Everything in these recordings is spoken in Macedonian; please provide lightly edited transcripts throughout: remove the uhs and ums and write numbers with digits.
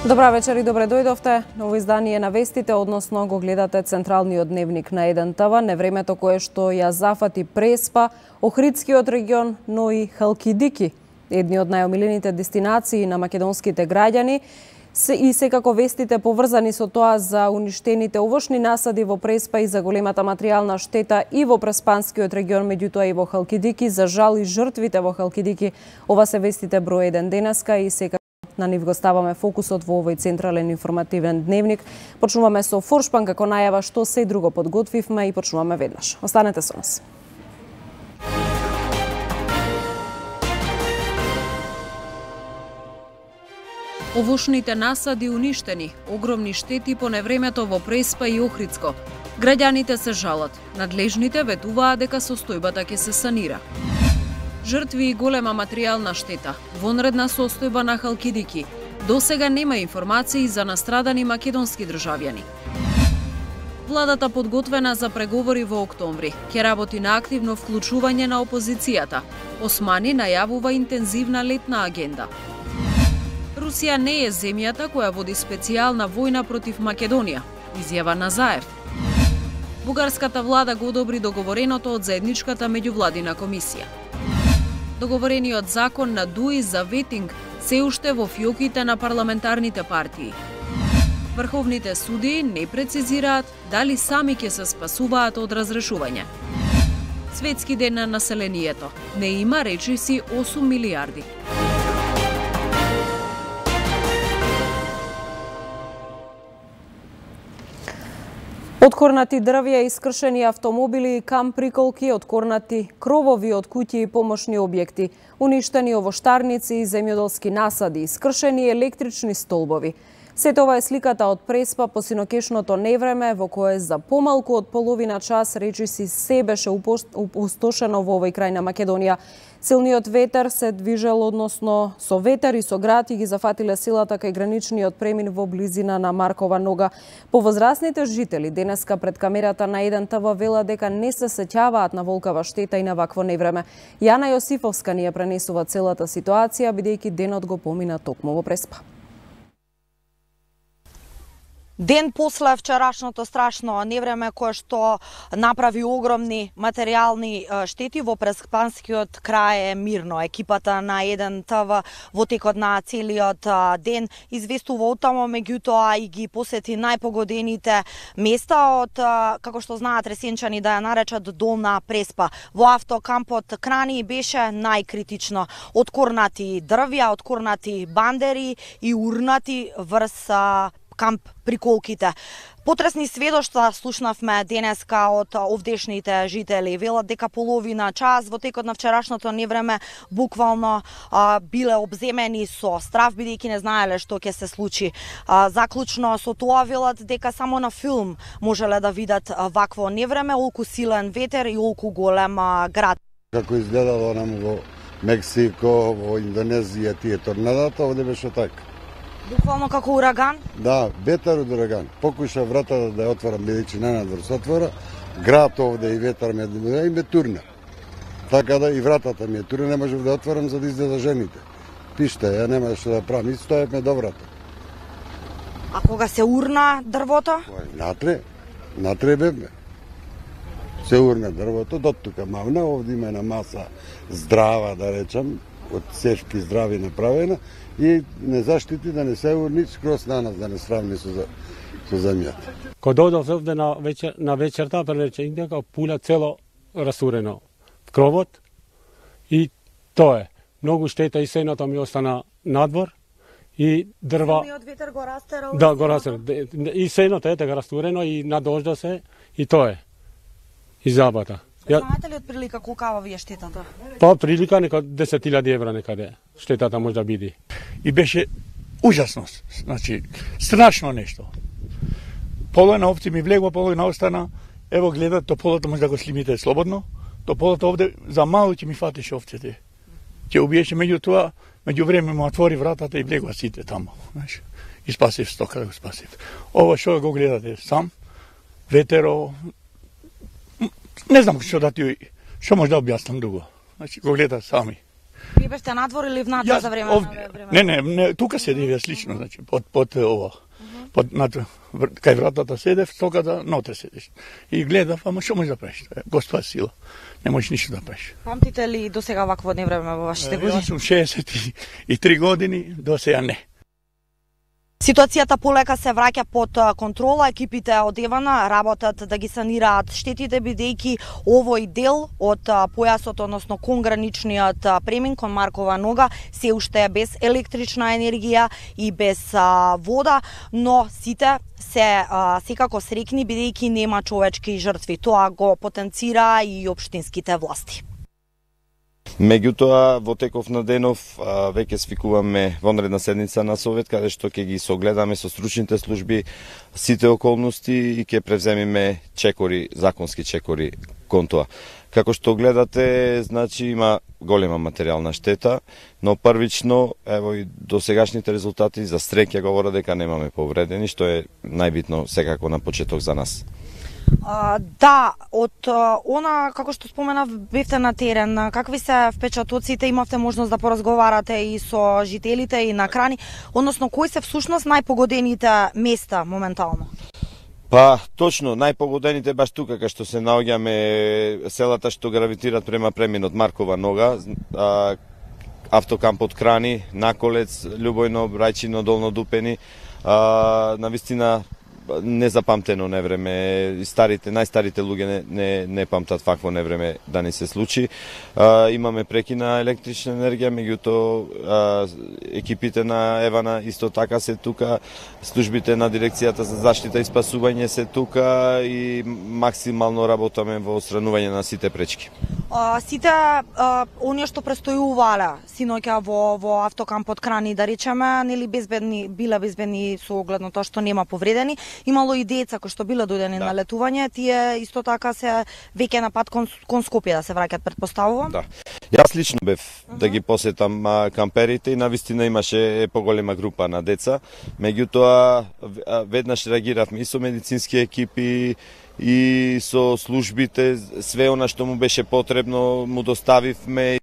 Добра вечер и добре дојдовте. Ново издание на вестите, односно го гледате централниот дневник на 1 ТВ, невремето кое што ја зафати Преспа, Охридскиот регион, но и Халкидики, едни од најомилените дестинации на македонските граѓани, и секако вестите поврзани со тоа за уништените овошни насади во Преспа и за големата материјална штета и во Преспанскиот регион, меѓутоа и во Халкидики, за жал и жртвите во Халкидики. Ова се вестите број 1 денеска и секако на нив го ставаме фокусот во овој централен информативен дневник. Почнуваме со Форшпан како најава што се друго подготвивме и почнуваме веднаш. Останете со нас. Овошните насади уништени, огромни штети по невремето во Преспа и Охридско. Граѓаните се жалат, надлежните ветуваат дека состојбата ќе се санира. Жртви и голема материјална штета, вонредна состојба на Халкидики. До сега нема информации за настрадани македонски државјани. Владата подготвена за преговори во октомври. Ќе работи на активно вклучување на опозицијата. Османи најавува интензивна летна агенда. Русија не е земјата која води специјална војна против Македонија, изјава Назаев. Бугарската влада го одобри договореното од заедничката меѓувладина комисија. Договорениот закон на ДУИ за ветинг се уште во фиоките на парламентарните партии. Врховните судии не прецизираат дали сами ќе се спасуваат од разрешување. Светски ден на населението. Не има речиси 8 милиарди. Откорнати дрвја, искршени автомобили и камп приколки, откорнати кровови од куќи и помошни објекти, уништени овоштарници и земјоделски насади, искршени електрични столбови. Сето ова е сликата од Преспа по синокешното невреме, во кое за помалку од половина час речиси се беше опустошено во овој крај на Македонија. Силниот ветер се движел, односно со ветер и со град и ги зафатиле силата кај граничниот премин во близина на Маркова нога. Повозрасните жители денеска пред камерата на 1 ТВ велат дека не се сеќаваат на волкава штета и на вакво невреме. Јана Јосифовска ни ја пренесува целата ситуација, бидејќи денот го помина токму во Преспа. Ден после вчерашното страшно невреме кое што направи огромни материјални штети во Преспанскиот крај е мирно. Екипата на 1 ТВ во текот на целиот ден известува од тамо, меѓутоа и ги посети најпогодените места од, како што знаат ресенчани да ја наречат Долна Преспа. Во автокампот Крани беше најкритично. Откорнати дрвја, откорнати бандери и урнати врз камп приколките. Потресни сведоштва слушнавме денеска од овдешните жители. Велат дека половина час во текот на вчерашното невреме буквално биле обземени со страв, бидејќи не знаеле што ќе се случи. Заклучно со тоа велат дека само на филм можеле да видат вакво невреме, олку силен ветер и олку голем град. Како изгледало нам во Мексико, во Индонезија тие торнадата, овде беше така. Буквално како ураган? Да, ветер од ураган. Покуша вратата да ја отворам, бидејќи нанадвор се отвора, град овде и ветер ме турна. Така да и вратата ми е турна, не можев да отворам за да излеза жените. Пиште, ја нема што да правам, и стоевме до врата. А кога се урна дрвото? Натре бевме. Се урна дрвото, до тука мавна, овде има една маса здрава, да речам, од сешки здрави направена, и не заштити да не се урни скроз на нас, да не сравни со земјата. Кога дојдов овде на вечерта, прелече дека пуля цело расурено в кровот и тоа е. Многу штета и сеното ми остана надвор и дрва. Силниот ветер го растерал. Да, го растерал. И сеното е така расурено и надожда се и тоа е. И забата. Знаете ли од прилика колкава ви е штетата? Па прилика нека 10.000 евра некаде штетата може да биде. И беше ужасно, значи страшно нешто. Половина овци ми влегува, половина остана. Ево гледат, тополото може да го слимите слободно. Тополото овде за мало ќе ми фатеше овците. Ќе убиеше, меѓутоа, меѓу време му отвори вратата и влегува сите тамо. Знаеш, и спасив стока, да го спасив. Ова што го гледате сам, ветеро, не знам што да ти, што може да објаснам друго. Значи, го гледат сами. Вие бевте надвор или внатре за време на време? Не, тука седев јас лично, значи, под ово. Кај вратата седев, токата ноте седеш. И гледав, ама што можеш да правиш? Господа сила. Не можеш ништо да правиш. Памтите ли до сега вакво невреме во вашите години? Јас сум 63 години, до сега не. Ситуацијата полека се враќа под контрола, екипите од Евана работат да ги санираат штетите, бидејќи овој дел од појасот, односно кон граничниот премин кон Маркова нога, се уште е без електрична енергија и без вода, но сите се секако срекни бидејќи нема човечки жртви. Тоа го потенцира и општинските власти. Меѓутоа, во теков на денов веќе свикуваме вонредна седница на Совет, каде што ќе ги согледаме со стручните служби сите околности и ќе превземиме чекори, законски чекори кон тоа. Како што гледате, значи има голема материјална штета, но првично, ево и до сегашните резултати, за среќа говорат дека немаме повредени, што е најбитно секако на почеток за нас. Да, од она, како што споменав, бевте на терен, какви се впечатоците, имавте можност да поразговарате и со жителите и на крани, односно кои се всушност најпогодените места моментално? Па, точно, најпогодените баш тука, кај што се наоѓаме селата што гравитират према преминот Маркова нога, автокампот Крани, Наколец, Љубојно, Брајчино, Долно Дупени, навистина незапамтено невреме, најстарите луѓе не памтат вакво невреме да не се случи. Имаме прекина електрична енергија, меѓутоа екипите на Евана исто така се тука, службите на дирекцијата за заштита и спасување се тука и максимално работаме во отстранување на сите пречки. Сите оние што престојувале синоќа во автокампот Крани, да речеме, нели биле безбедни со оглед на тоа што нема повредени. Имало и деца кои што биле дојдени на летување, тие исто така се веќе на пат кон Скопје да се враќаат, претпоставувам. Да. Јас лично бев да ги посетам камперите и навистина имаше поголема група на деца. Меѓутоа веднаш реагиравме и со медицински екипи и со службите, све она што му беше потребно му доставивме.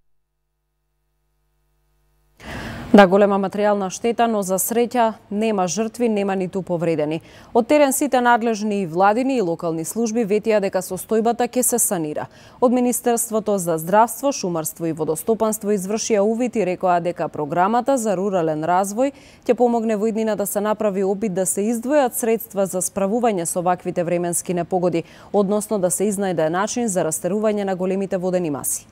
Да, голема материјална штета, но за среќа нема жртви, нема ниту повредени. Од терен сите надлежни и владини и локални служби ветија дека состојбата ќе се санира. Од Министерството за здравство, шумарство и водостопанство извршија увид и рекоа дека програмата за рурален развој ќе помогне во иднина да се направи опит да се издвојат средства за справување со ваквите временски непогоди, односно да се изнајде начин за растерување на големите водени маси.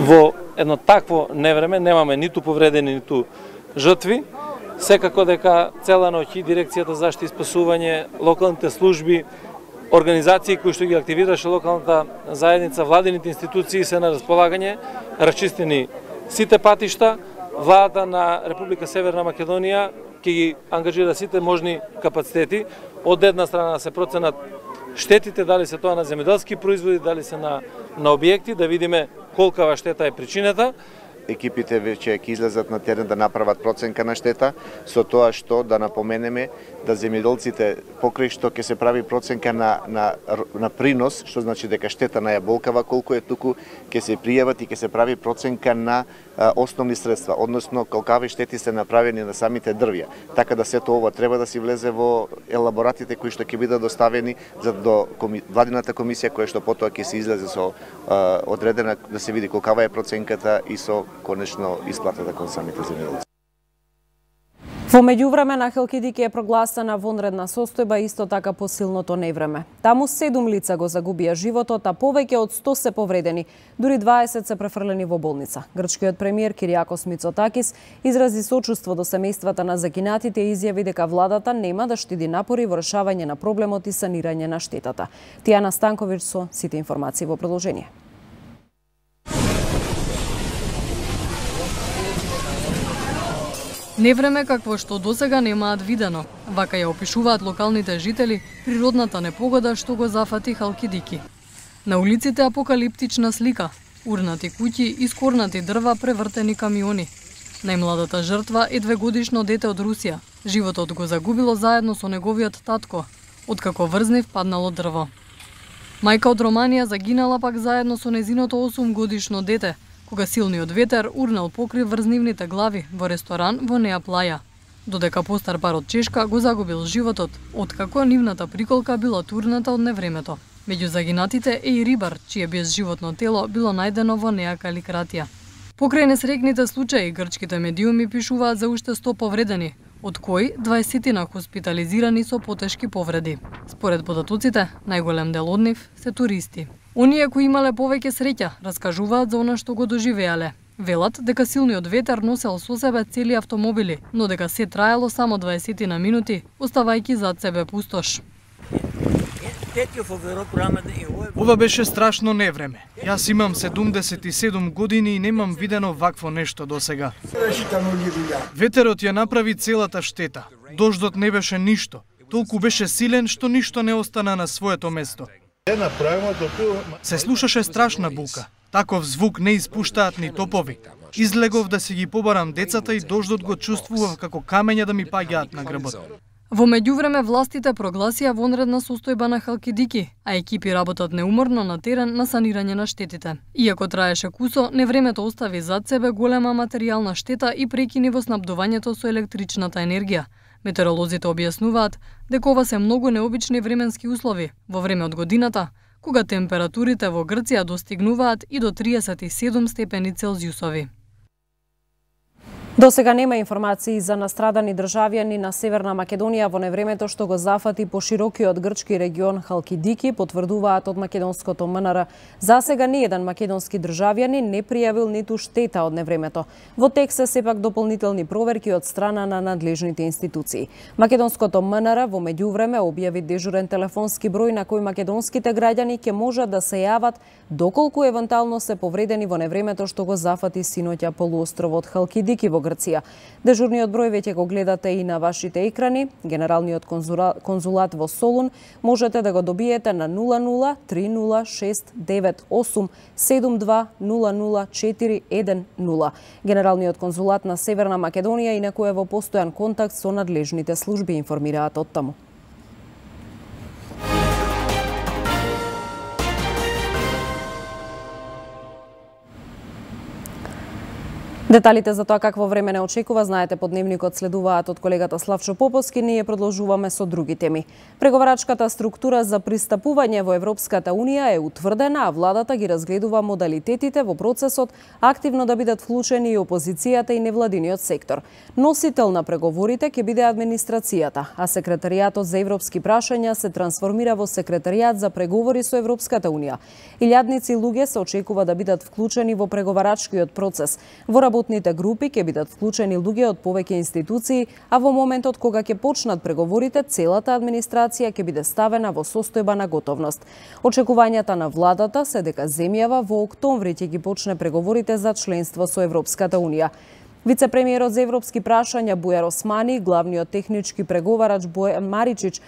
Во едно такво невреме немаме ниту повредени, ниту жртви. Секако дека цела ноќ и дирекцијата за заштита и спасување, локалните служби, организации кои што ги активираше локалната заедница, владините институции се на располагање, расчистени сите патишта. Владата на Република Северна Македонија ќе ги ангажира сите можни капацитети. Од една страна се проценат штетите, дали се тоа на земјоделски производи, дали се на објекти, да видиме колкава штета е причината. Екипите веќе ќе излезат на терен да направат проценка на штета, со тоа што да напоменеме да земјоделците покрај што ќе се прави проценка на принос, што значи дека штета на јаболкава колку е, туку ќе се пријават и ќе се прави проценка на основни средства, односно колкави штети се направени на самите дрвја. Така да сето ова треба да си влезе во елаборатите кои што ќе бидат доставени за до владината комисија која што потоа ќе се излезе со одредена да се види колкава е проценката и со конечно исплатата кон самите земјоделци. Во меѓувреме на Халкидики е прогласена вонредна состојба исто така по силното невреме. Таму 7 лица го загубија животот, а повеќе од 100 се повредени, дури 20 се префрлени во болница. Грчкиот премиер Кириакос Мицотакис изрази сочувство до семејствата на загинатите и изјави дека владата нема да штеди напори во решавање на проблемот и санирање на штетата. Тијана Станковиќ со сите информации во продолжение. Невреме какво што досега немаат видено. Вака ја опишуваат локалните жители природната непогода што го зафати Халкидики. На улиците апокалиптична слика. Урнати куќи, искорнати дрва, превртени камиони. Најмладата жртва е 2-годишно дете од Русија. Животот го загубило заедно со неговиот татко, откако врзнив паднало дрво. Мајка од Романија загинала пак заедно со незиното 8-годишно дете, кога силниот ветер урнал покрив врз нивните глави во ресторан во Неа Плаја. Додека постар пар од Чешка го загубил животот, откако нивната приколка била турната од невремето. Меѓу загинатите е и рибар, чие безживотно тело било најдено во Неа Каликратија. Покрај несрекните случаи, грчките медиуми пишуваат за уште 100 повредени, од кои 20 хоспитализирани со потешки повреди. Според податоците, најголем дел од нив се туристи. Оние кои имале повеќе среќа, раскажуваат за она што го доживеале. Велат дека силниот ветер носел со себе цели автомобили, но дека се траело само 20 минути, оставајќи зад себе пустош. Ова беше страшно невреме. Јас имам 77 години и немам видено вакво нешто досега. Ветерот ја направи целата штета. Дождот не беше ништо. Толку беше силен што ништо не остана на своето место. Се слушаше страшна бука. Таков звук не испуштаат ни топови. Излегов да си ги побарам децата и дождот го чувствував како камења да ми паѓаат на грбот. Во меѓувреме властите прогласија вонредна состојба на Халкидики, а екипи работат неуморно на терен на санирање на штетите. Иако траеше кусо, невремето остави зад себе голема материјална штета и прекини во снабдувањето со електричната енергија. Метеоролозите објаснуваат дека ова се многу необични временски услови во време од годината, кога температурите во Грција достигнуваат и до 37 степени Целзиусови. До сега нема информации за настрадани државјани на Северна Македонија во невремето што го зафати поширокиот грчки регион Халкидики, потврдуваат од македонското МНР. За сега ниеден македонски државјанин не пријавил ниту штета од невремето. Во тек се сепак дополнителни проверки од страна на надлежните институции. Македонското МНР во меѓувреме објави дежурен телефонски број на кој македонските граѓани ќе можат да се јават доколку евентуално се повредени во невремето што го зафати синоќа полуостровот Халкидики во Грција. Дежурниот број веќе го гледате и на вашите екрани. Генералниот конзулат во Солун можете да го добиете на 00 3069 872 Генералниот конзулат на Северна Македонија инаку е во постојан контакт со надлежните служби, информираат од таму. Деталите за тоа какво време не очекува, знаете, по дневникот следуваат од колегата Славчо Поповски, ние продолжуваме со други теми. Преговарачката структура за пристапување во Европската Унија е утврдена, а владата ги разгледува модалитетите во процесот активно да бидат вклучени и опозицијата и невладиниот сектор. Носител на преговорите ќе биде администрацијата, а секретаријатот за европски прашања се трансформира во секретаријат за преговори со Европската Унија. Илјадници луѓе се очекува да бидат вклучени во преговарачкиот процес. Во работните групи ќе бидат вклучени луѓе од повеќе институции, а во моментот кога ќе почнат преговорите, целата администрација ќе биде ставена во состојба на готовност. Очекувањата на владата се дека земјава во октомври ќе ги почне преговорите за членство со Европската Унија. Вице-премиерот за европски прашања Бујар Османи, главниот технички преговарач Бојан Маричич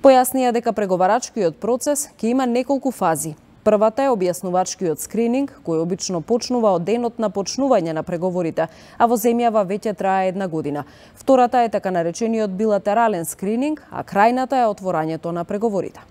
појаснија дека преговарачкиот процес ќе има неколку фази. Првата е објаснувачкиот скрининг, кој обично почнува од денот на почнување на преговорите, а во земјава веќе трае 1 година. Втората е така наречениот билатерален скрининг, а крајната е отворањето на преговорите.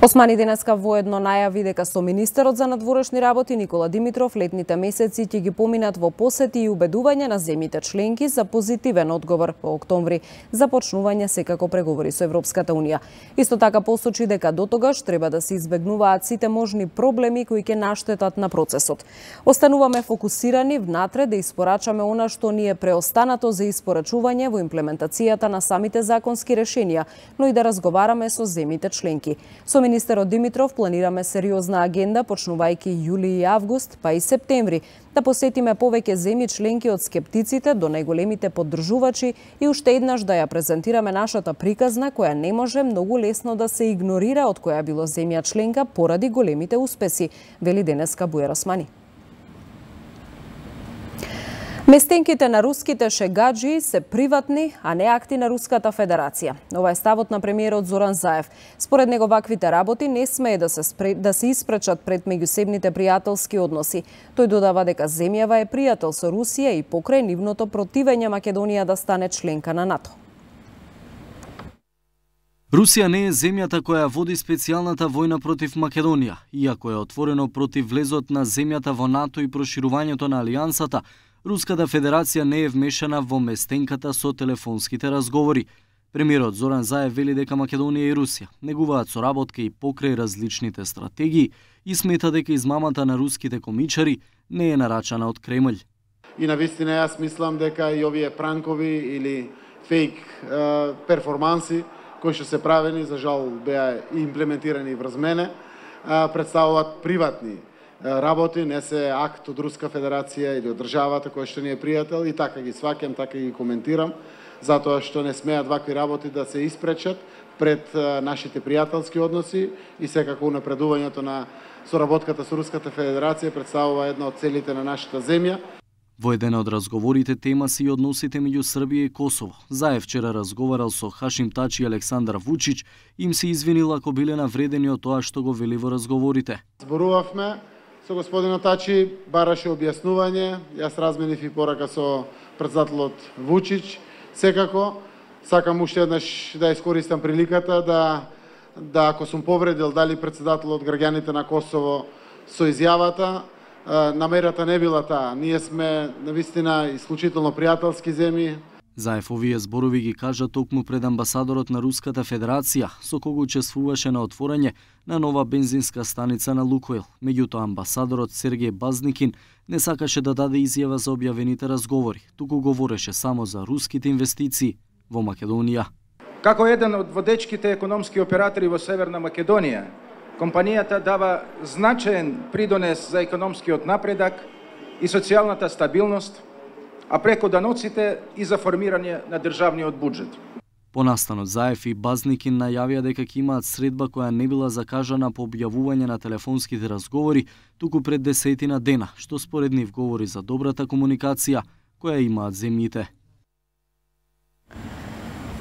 Османи денеска воедно најави дека со министерот за надворешни работи Никола Димитров летните месеци ќе ги поминат во посети и убедување на земјите членки за позитивен одговор во октомври за почнување секако преговори со Европската Унија. Исто така посочи дека дотогаш треба да се избегнуваат сите можни проблеми кои ќе наштетат на процесот. Остануваме фокусирани внатре да испорачаме она што ни е преостанато за испорачување во имплементацијата на самите законски решенија, но и да разговараме со земјите членки. Со министерот Димитров планираме сериозна агенда почнувајќи јули и август, па и септември, да посетиме повеќе земји членки од скептиците до најголемите поддржувачи и уште еднаш да ја презентираме нашата приказна која не може многу лесно да се игнорира од која било земја членка поради големите успеси, вели денеска Бујар Османи. Местенките на руските шегаджи се приватни, а не акти на Руската Федерација. Ова е ставот на премиерот Зоран Заев. Според него ваквите работи не смее да се испречат пред меѓусебните пријателски односи. Тој додава дека земјава е пријател со Русија и покрај нивното противење Македонија да стане членка на НАТО. Русија не е земјата која води специјалната војна против Македонија, иако е отворено против влезот на земјата во НАТО и проширувањето на алијансата. Руската Федерација не е вмешана во местенката со телефонските разговори. Премиерот Зоран Заев вели дека Македонија и Русија негуваат соработка и покрај различните стратегии и смета дека измамата на руските комичари не е нарачана од Кремљ. И навистина јас мислам дека и овие пранкови или фейк перформанси кои што се правени, за жал беа имплементирани врз мене, представуваат приватни работи, не се акт од Руска Федерација или од државата која што ни е пријател, и така ги сваќам, така ги коментирам, затоа што не смеат вакви работи да се испречат пред нашите пријателски односи и секако унапредувањето на соработката со Руската Федерација представува една од целите на нашата земја. Во еден од разговорите тема се и односите меѓу Србија и Косово. Заев вчера разговарал со Хашим Тачи и Александар Вучич, им се извинил ако биле навредени од тоа што го вели во разговорите. Зборувавме со господинот Тачи, бараше објаснување, јас разменив и порака со претседателот Вучич. Секако, сакам уште еднаш да искористам приликата да ако сум повредил дали претседателот граѓаните на Косово со изјавата, намерата не била таа. Ние сме навистина исклучително пријателски земји. Заев овие зборови ги кажа токму пред амбасадорот на Руската Федерација, со кого учествуваше на отворање на нова бензинска станица на Лукойл. Меѓутоа амбасадорот Сергеј Базникин не сакаше да даде изјава за објавените разговори, туку говореше само за руските инвестиции во Македонија. Како еден од водечките економски оператори во Северна Македонија, компанијата дава значаен придонес за економскиот напредак и социјалната стабилност, а преку даноците и за формирање на државниот буџет. Понастанот Заев и Базникин најавија дека ќе имаат средба која не била закажана по објавување на телефонските разговори, туку пред 10 дена, што според нив говори за добрата комуникација која имаат земјите.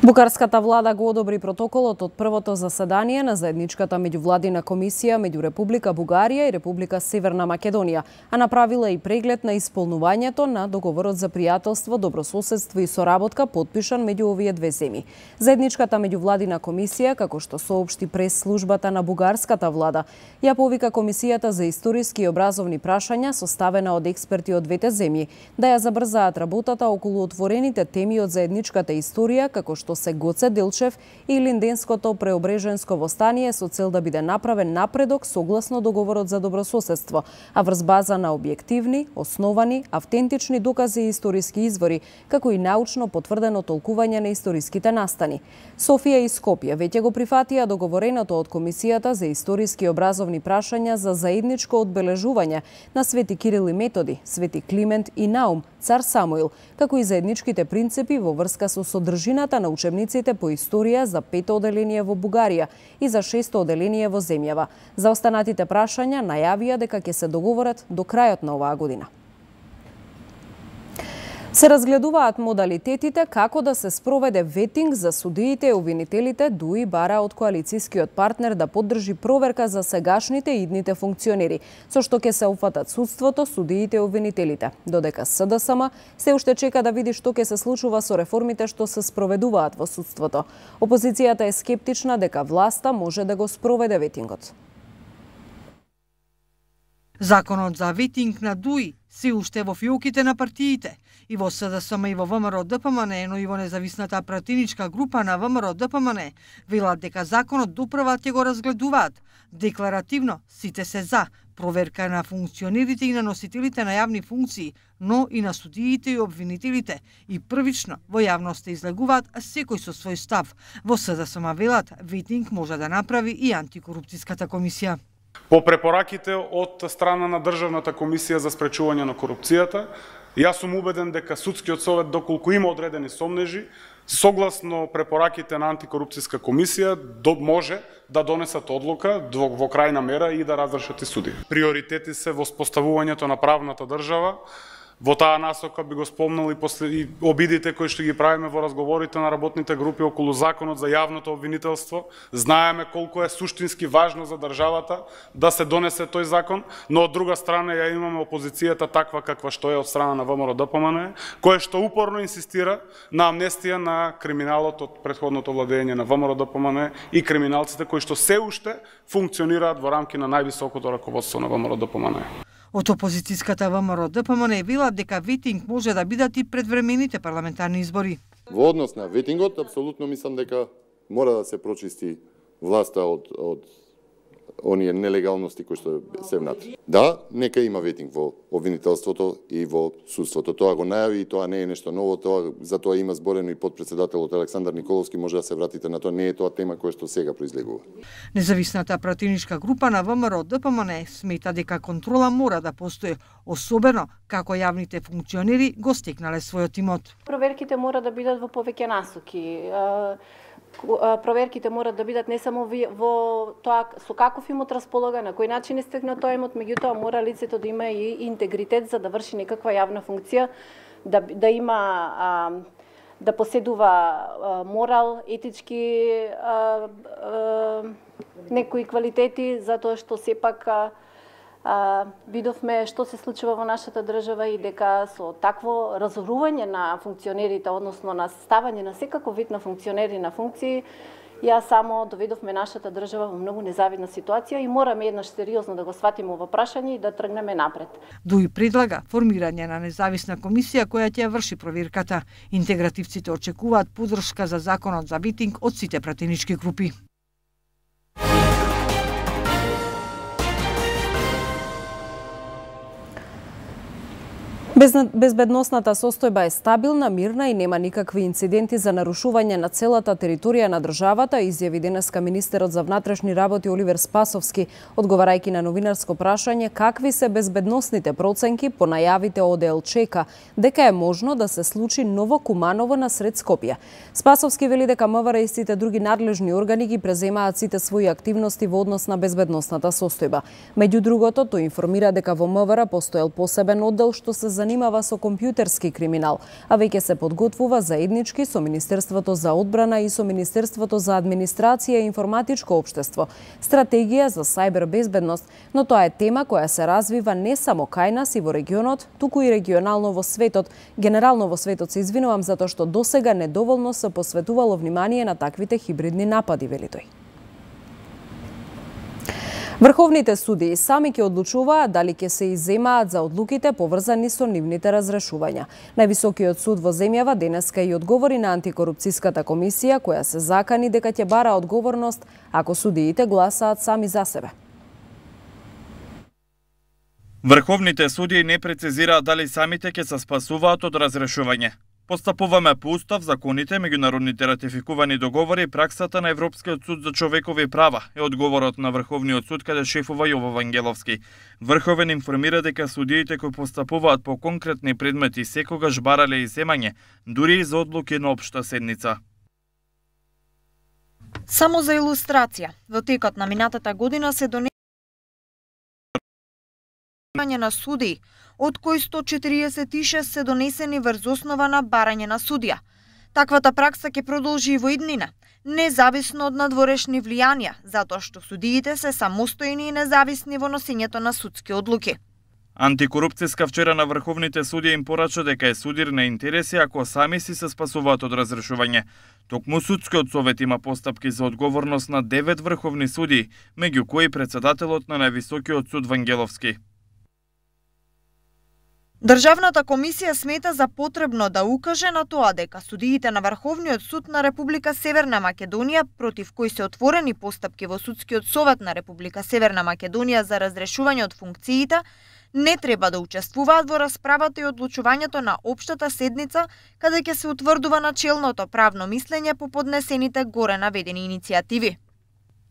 Бугарската влада го одобри протоколот од првото заседание на заедничката меѓувладина комисија меѓу Република Бугарија и Република Северна Македонија, а направила и преглед на исполнувањето на договорот за пријателство, добрососедство и соработка подпишан меѓу овие две земји. Заедничката меѓувладина комисија, како што соопшти прес службата на бугарската влада, ја повика комисијата за историски и образовни прашања составена од експерти од двете земји да ја забрзаат работата околу отворените теми од заедничката историја, како што се Гоце Делчев и Линденското преобреженско востание, со цел да биде направен напредок согласно договорот за добрососедство, а врз база на објективни, основани, автентични докази и историски извори, како и научно потврдено толкување на историските настани. Софија и Скопје веќе го прифатија договореното од Комисијата за историски и образовни прашања за заедничко одбележување на Свети Кирил и Методи, Свети Климент и Наум, Цар Самуил, како и заедничките принципи во врска со содржината на учебниците по историја за 5-то оделение во Бугарија и за 6-то оделение во земјава. За останатите прашања најавија дека ќе се договорат до крајот на оваа година. Се разгледуваат модалитетите како да се спроведе ветинг за судиите и обвинителите, дуи бара од коалицијскиот партнер да поддржи проверка за сегашните и идните функционери, со што ќе се опфатат судството, судиите и обвинителите. Додека СДСМ се уште чека да види што ќе се случува со реформите што се спроведуваат во судството. Опозицијата е скептична дека власта може да го спроведе ветингот. Законот за ветинг на ДУИ се уште во фиоките на партиите. И во СДСМ и во ВМРО ДПМН, но и во независната пратеничка група на ВМРО ДПМН, велат дека законот доправа ќе го разгледуваат. Декларативно сите се за проверка на функционерите и на носителите на јавни функции, но и на судиите и обвинителите. И првично во јавноста излегуваат секој со свој став. Во СДСМ велат ветинг може да направи и антикорупцијската комисија. По препораките од страна на Државната комисија за спречување на корупцијата, јас сум убеден дека судскиот совет, доколку има одредени сомнежи, согласно препораките на антикорупцијска комисија, може да донесат одлука во крајна мера и да разрешат и суди. Приоритети се во споставувањето на правната држава, Во таа насока би го спомнал и обидите кои што ги правиме во разговорите на работните групи околу законот за јавното обвинителство. Знаеме колку е суштински важно за државата да се донесе тој закон, но од друга страна ја имаме опозицијата таква каква што е од страна на ВМРО-ДПМНЕ, кој што упорно инсистира на амнестија на криминалот од претходното владење на ВМРО-ДПМНЕ и криминалците кои што се уште функционираат во рамки на највисокото раководство на ВМРО-ДПМНЕ. Од опозицијската ВМРО-ДПМНЕ велат дека ветинг може да бидат и предвремените парламентарни избори. Во однос на ветингот, апсолутно мислам дека мора да се прочисти власта од оние нелегалности кои што се внатри. Да, нека има ветинг во обвинителството и во судството. Тоа го најави и тоа не е нешто ново, за тоа има зборено и подпредседателот Александар Николовски, може да се вратите на тоа, не е тоа тема која што сега произлегува. Независната пратеничка група на ВМРО-ДПМНЕ смета дека контрола мора да постои, особено како јавните функционери го стекнале својот имот. Проверките мора да бидат во повеќе насоки. Проверките мора да бидат не само во тоа со каков имот располага, на кој начин е стекнат тој имот, меѓутоа мора лицето да има и интегритет за да врши некаква јавна функција, да има да поседува морал, етички некои квалитети, затоа што сепак видовме што се случува во нашата држава и дека со такво разорување на функционерите, односно на ставање на секаков вид на функционери на функции, ја само доведовме нашата држава во многу незавидна ситуација и мораме еднаш сериозно да го сватиме ова прашање и да тргнеме напред. Дуи предлага формирање на независна комисија која ќе ја врши проверката. Интегративците очекуваат поддршка за законот за ветинг од сите пратенички групи. Безбедносната состојба е стабилна, мирна и нема никакви инциденти за нарушување на целата територија на државата, изјави денеска министерот за внатрешни работи Оливер Спасовски, одговарајќи на новинарско прашање какви се безбедносните проценки по најавите од ОДЛЧК дека е можно да се случи ново Куманово насред Скопје. Спасовски вели дека МВР и сите други надлежни органи ги преземаат сите своји активности во однос на безбедносната состојба. Меѓу другото, тој информира дека во МВР постоел посебен оддел што се занимава со компјутерски криминал, а веќе се подготвува заеднички со Министерството за одбрана и со Министерството за администрација и информатичко општество стратегија за сајбер безбедност, но тоа е тема која се развива не само кај нас и во регионот, туку и регионално во светот. Генерално во светот се извинувам затоа што досега недоволно се посветувало внимание на таквите хибридни напади, вели тој. Врховните судии сами ќе одлучуваат дали ќе се изземаат за одлуките поврзани со нивните разрешувања. Највисокиот суд во земјава денеска и одговори на антикорупцијската комисија која се закани дека ќе бара одговорност ако судиите гласаат сами за себе. Врховните судии не прецизираат дали самите ќе се спасуваат од разрешување. Постапуваме по устав, законите, меѓународните ратификувани договори и праксата на Европскиот суд за човекови права е одговорот на Врховниот суд каде шефува Јово Вангеловски. Врховен информира дека судиите кои постапуваат по конкретни предмети секогаш барале изземање, дури и за одлуки на општа седница. Само за илустрација, во текот на минатата година се донесува на судии, од кои 146 се донесени врз основа на барање на судија. Таквата пракса ќе продолжи и во иднина, независно од надворешни влијанија, затоа што судиите се самостојни и независни во носењето на судски одлуки. Антикорупцијска вчера на врховните судии им порача дека е судир на интереси ако сами си се спасуваат од разрешување. Токму судскиот совет има постапки за одговорност на 9 врховни судии, меѓу кои председателот на највисокиот суд Вангеловски. Државната комисија смета за потребно да укаже на тоа дека судиите на Врховниот суд на Република Северна Македонија, против кои се отворени постапки во Судскиот совет на Република Северна Македонија за разрешување од функциите, не треба да учествуваат во расправата и одлучувањето на општата седница, каде ќе се утврдува начелното правно мислење по поднесените горе наведени иницијативи.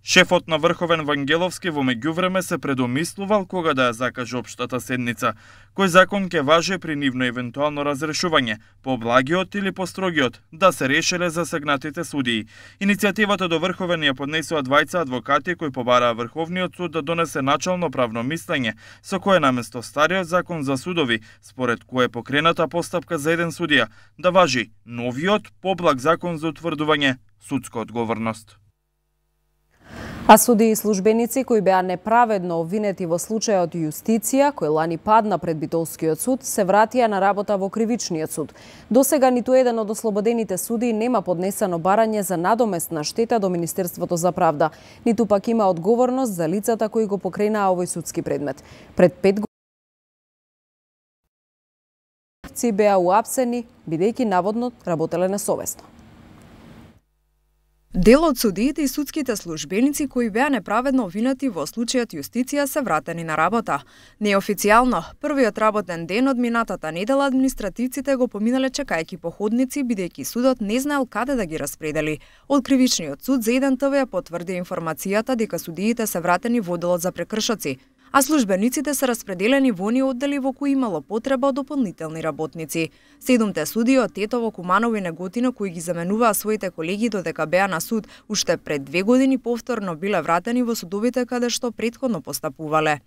Шефот на Врховен Вангеловски во меѓувреме се предомислувал кога да ја закаже општата седница, кој закон ќе важи при нивно евентуално разрешување, поблагиот или построгиот, да се решеле засегнатите судии. Иницијативата до Врховен ја поднесува двајца адвокати кои побараа Врховниот суд да донесе начално правно мислење, со кое наместо стариот закон за судови, според кое е покрената постапка за еден судија, да важи новиот поблаг закон за утврдување судска одговорност. А судии и службеници кои беа неправедно обвинети во случајот Јустиција, кој лани падна пред Битолскиот суд, се вратија на работа во Кривичниот суд. Досега ниту еден од ослободените судии нема поднесено барање за надоместна штета до Министерството за правда, ниту пак има одговорност за лицата кои го покренаа овој судски предмет. Пред 5 години беа уапсени, бидејќи наводно работеле несовесно. Дел од судиите и судските службеници кои беа неправедно обвинети во случајот Јустиција се вратени на работа. Неофицијално, првиот работен ден од минатата недела административците го поминале чекајќи по ходници, бидејќи судот не знаел каде да ги распредели. Од Кривичниот суд за 1 ТВ ја потврди информацијата дека судиите се вратени во одделот за прекршоци, а службениците се распределени во оние оддели во кои имало потреба од дополнителни работници. 7 судии од Тетово, Куманово и Неготино кои ги заменуваа своите колеги додека беа на суд, уште пред 2 години повторно биле вратени во судовите каде што претходно постапувале.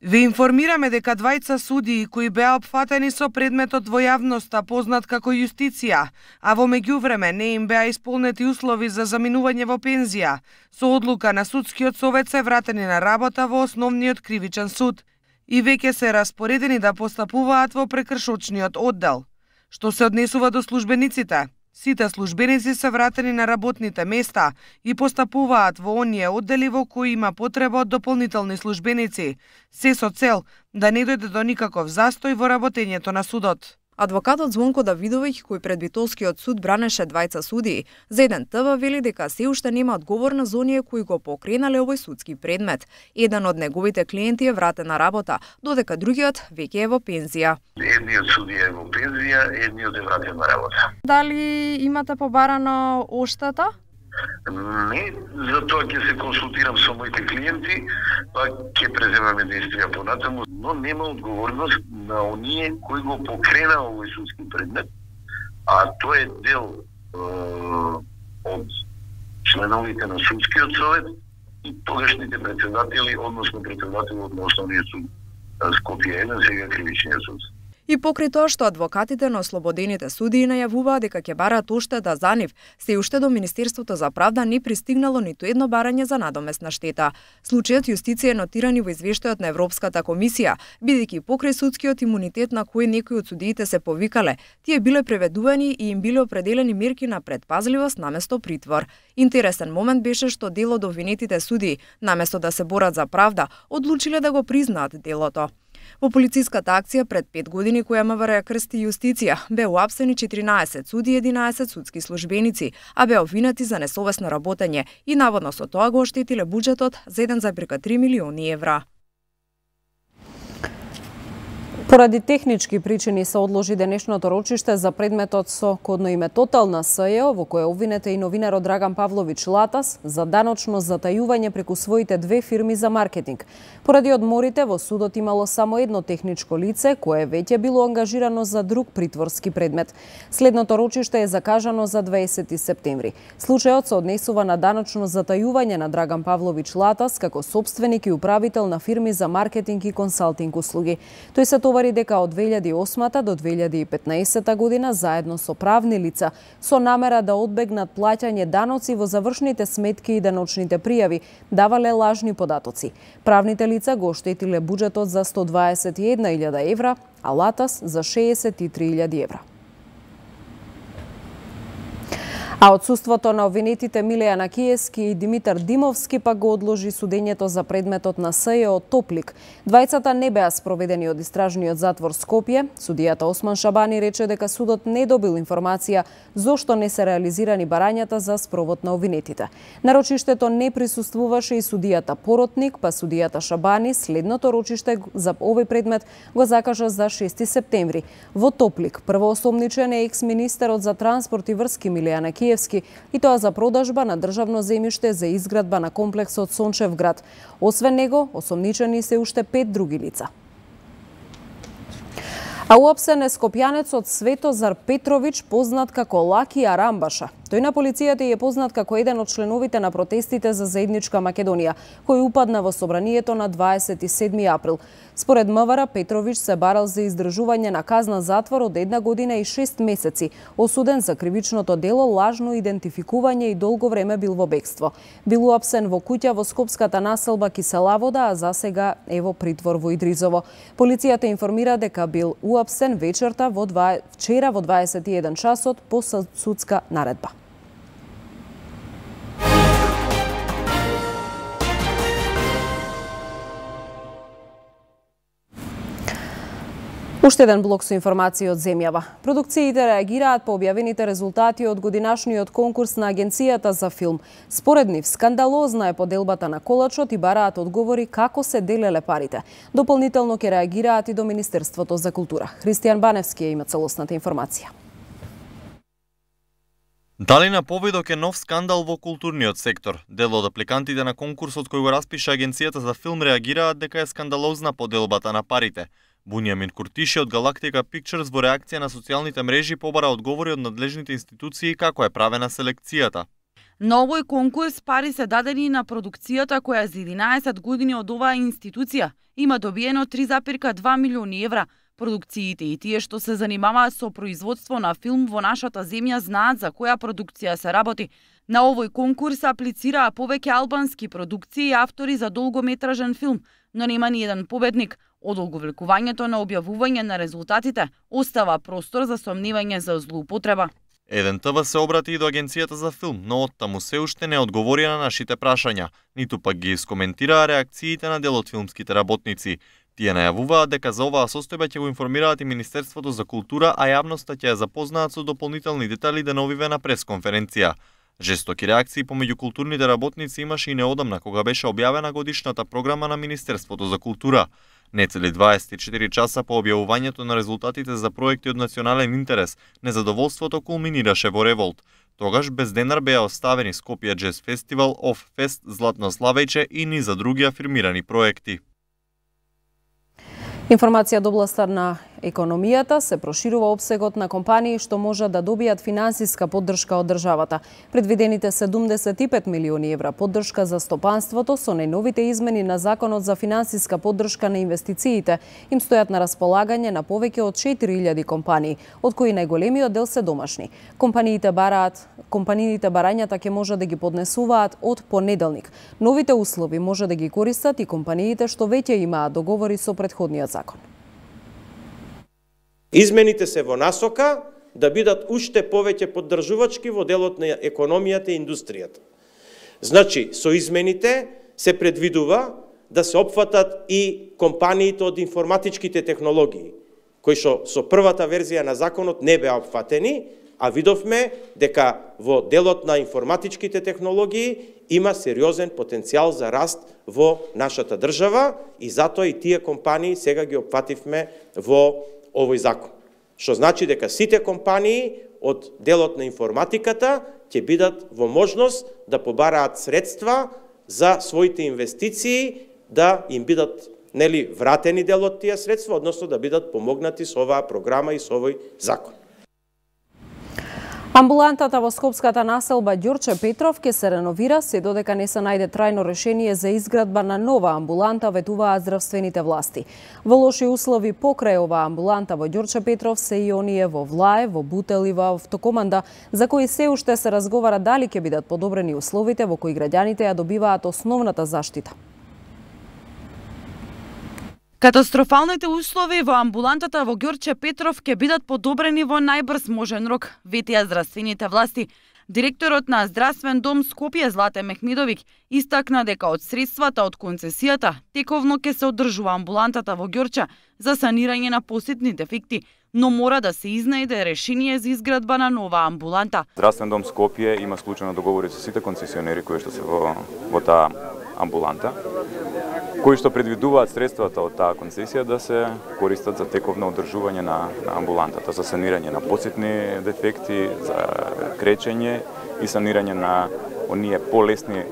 Ви информираме дека двајца судии кои беа опфатени со предметот во јавноста познат како Јустиција, а во меѓувреме не им беа исполнети услови за заминување во пензија, со одлука на судскиот совет се вратени на работа во основниот кривичен суд и веќе се распоредени да постапуваат во прекршочниот оддел. Што се однесува до службениците, сите службеници се вратени на работните места и постапуваат во оние оддели во кои има потреба од дополнителни службеници, се со цел да не дојде до никаков застој во работењето на судот. Адвокатот Звонко Давидовиќ, кој пред Битолскиот суд бранеше двајца судии, за 1 ТВ вели дека се уште нема одговорност за оние кои го покренале овој судски предмет. Еден од неговите клиенти е вратен на работа, додека другиот веќе е во пензија. Едниот судија е во пензија, едниот е вратен на работа. Дали имате побарано оштета? Не, за тоа ќе се консултирам со моите клиенти, па ќе преземаме действија понатаму, но нема одговорност на оние кои го покрена овој судски предмет, а тоа е дел од членовите на судскиот совет и тогашните председатели, односно председателот на Основниот суд Скопје 1, сега Кривичниот суд. И покрај тоа што адвокатите на ослободените судии најавуваа дека ќе бараат оштета за нив, се уште до Министерството за правда не пристигнало ниту едно барање за надоместна штета. Случајот Јустиција е нотиран во извештајот на Европската комисија, бидејќи покрај судскиот имунитет на кој некои од судиите се повикале, тие биле преведувани и им биле определени мерки на предпазливост наместо притвор. Интересен момент беше што дел од обвинетите судии, наместо да се борат за правда, одлучиле да го признаат делото. Во полициската акција пред 5 години која МВР крсти Јустиција, беа уапсени 14 суди и 11 судски службеници, а беа обвинети за несовесно работење и наводно со тоа го оштетиле буџетот за 1,3 милиони евра. Поради технички причини се одложи денешното рочиште за предметот со кодно име Тотал на СЈО, во кое обвинете и новинарот Драган Павлович Латас за даночно затајување преку своите 2 фирми за маркетинг. Поради одморите во судот имало само едно техничко лице кое веќе било ангажирано за друг притворски предмет. Следното рочиште е закажано за 20 септември. Случајот се однесува на даночно затајување на Драган Павлович Латас како собственик и управител на фирми за маркетинг и консалтинг услуги. Тој се товари дека од 2008 до 2015 година заедно со правни лица со намера да одбегнат плаќање даноци во завршните сметки и даночните пријави давале лажни податоци. Правните лица го оштетиле буџетот за 121.000 евра, а Латас за 63.000 евра. А отсуството на обвинетите Милеја Накиевски и Димитар Димовски пак го одложи судењето за предметот на СЈО Топлик. Двајцата не беа спроведени од истражниот затвор Скопје. Судијата Осман Шабани рече дека судот не добил информација зошто не се реализирани барањата за спровод на обвинетите. На рочиштето не присуствуваше и судијата Поротник, па судијата Шабани следното рочиште за овој предмет го закажа за 6 септември. Во Топлик првоосомничен е екс-министерот за транспорт и врски Милеја Накиевски Пиевски, и тоа за продажба на државно земјиште за изградба на комплексот Сончевград. Освен него, осомничени се уште 5 други лица. А уапсен е скопјанецот Светозар Петрович, познат како Лаки Арамбаша. Тој на полицијата е познат како еден од членовите на протестите за заедничка Македонија, кој упадна во собранието на 27 април. Според МВР, Петрович се барал за издржување на казна затвор од 1 година и 6 месеци, осуден за кривичното дело лажно идентификување и долго време бил во бегство. Бил уапсен во куќа во скопската населба Киселавода, а засега е во притвор во Идризово. Полицијата информира дека бил уапсен вчера во 21 часот по судска наредба. Уште еден блок со информации од земјава. Продукциите реагираат по објавените резултати од годинашниот конкурс на Агенцијата за филм. Според нив, скандалозна е поделбата на колачот и бараат одговори како се делеле парите. Дополнително ќе реагираат и до Министерството за култура. Христијан Баневски има целосната информација. Дали на повидок е нов скандал во културниот сектор? Дел од апликантите на конкурсот кој го распиша Агенцијата за филм реагираат дека е скандалозна поделбата на парите. Буњамин Куртиши од Galactica Pictures во реакција на социјалните мрежи побара одговори од надлежните институции како е правена селекцијата. На овој конкурс пари се дадени на продукцијата која за 11 години од оваа институција има добиено 3,2 милиони евра. Продукциите и тие што се занимаваат со производство на филм во нашата земја знаат за која продукција се работи. На овој конкурс аплицираа повеќе албански продукции и автори за долгометражен филм, но нема ни еден победник. Одолговлекувањето на објавување на резултатите остава простор за сомневање за злоупотреба. Еден ТВ се обрати и до Агенцијата за филм, но оттаму се уште не одговори на нашите прашања, ниту пак ги искоментираа реакциите на дел од филмските работници. Тие најавуваат дека за оваа состојба ќе го информираат и Министерството за култура, а јавноста ќе ја запознаат со дополнителни детали деновиве на пресконференција. Жестоки реакции помеѓу културните работници имаше и неодамна кога беше објавена годишната програма на Министерството за култура. Нецели 24 часа по објавувањето на резултатите за проекти од национален интерес, незадоволството кулминираше во револт. Тогаш без денар беа оставени Скопје Джез Фестивал, Оф Фест, Златно Славејче и низа други афирмирани проекти. Информација од областа на економијата се проширува опсегот на компании што можат да добијат финансиска поддршка од државата. Предвидените 75 милиони евра поддршка за стопанството со најновите измени на Законот за финансиска поддршка на инвестициите им стојат на располагање на повеќе од 4000 компании, од кои најголемиот дел се домашни. Компаниите барањата ќе може да ги поднесуваат од понеделник. Новите услови може да ги користат и компаниите што веќе имаат договори со претходниот закон. Измените се во насока да бидат уште повеќе поддржувачки во делот на економијата и индустријата. Значи, со измените се предвидува да се опфатат и компаниите од информатичките технологии, кои што со првата верзија на законот не беа опфатени, а видовме дека во делот на информатичките технологии има сериозен потенцијал за раст во нашата држава и затоа и тие компании сега ги опфативме во овој закон. Што значи дека сите компании од делот на информатиката ќе бидат во можност да побараат средства за своите инвестиции, да им бидат вратени дел од тие средства, односно да бидат помогнати со оваа програма и со овој закон. Амбулантата во скопската населба Ѓорче Петров ќе се реновира се додека не се најде трајно решение за изградба на нова амбуланта, ветуваат здравствените власти. Во лоши услови покрај оваа амбуланта во Ѓорче Петров се и оние во Влаев, во Бутел и во Автокоманда, за кои се уште се разговара дали ќе бидат подобрени условите во кои граѓаните ја добиваат основната заштита. Катастрофалните услови во амбулантата во Ѓорче Петров ќе бидат подобрени во најбрз можен рок, ветија здравствените власти. Директорот на Здравствен дом Скопје Злате Мехмедовик истакна дека од средствата од концесијата тековно ќе се одржува амбулантата во Ѓорче за санирање на посетни дефекти, но мора да се изнајде решение за изградба на нова амбуланта. Здравствен дом Скопје има склучено договори со сите концесионери кои што се во таа амбуланта. кои што предвидуваат средствата од таа концесија да се користат за тековно одржување на амбулантата, за санирање на посетни дефекти, за кречење и санирање на оние полесни